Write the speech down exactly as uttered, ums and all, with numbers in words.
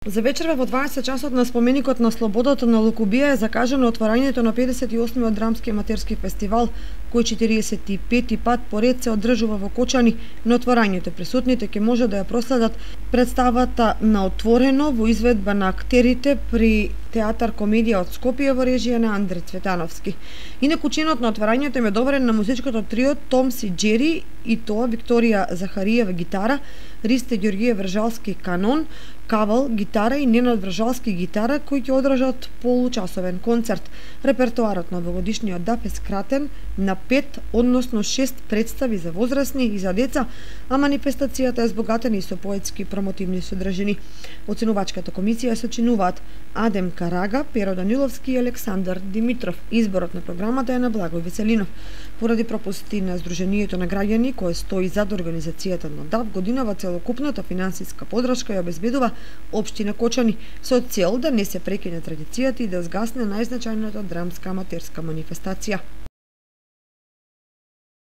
За вечерва во дваесет часот на споменикот на слободата на Лукубија е закажано отварањето на педесет и осмиот драмски аматерски фестивал, кој четиридесет и пети пат поред се одржува во Кочани. На отварањето присутните ќе може да ја проследат представата на Отворено во изведба на актерите при Театар Комедија од Скопје во режија на Андре Цветановски. Инаку чинот на отварањето им е доверен на музичкото трио Томс и Джери, и тоа Викторија Захариева гитара, Ристе Ѓорѓиев Вржалски канон, Кавал гитара и Ненад Вржалски гитара, кои ќе одржат получасовен концерт. Репертоарот на овогодишниот ДАФ е скратен на пет, односно шест представи за возрастни и за деца, а манифестацијата е збогатена и со поетски промотивни содржини. Оценувачката комисија се сочинуваат Адем Карага, Перо Даниловски и Александар Димитров. Изборот на програмата е на Благој Веселинов. Поради пропусти на Сдруженијето на граѓани, кое стои зад организацијата на ДАФ, годинава целокупната финансиска поддршка ја обезбедува Општина Кочани, со цел да не се прекине традицијата и да згасне најзначајната драмска аматерска манифестација.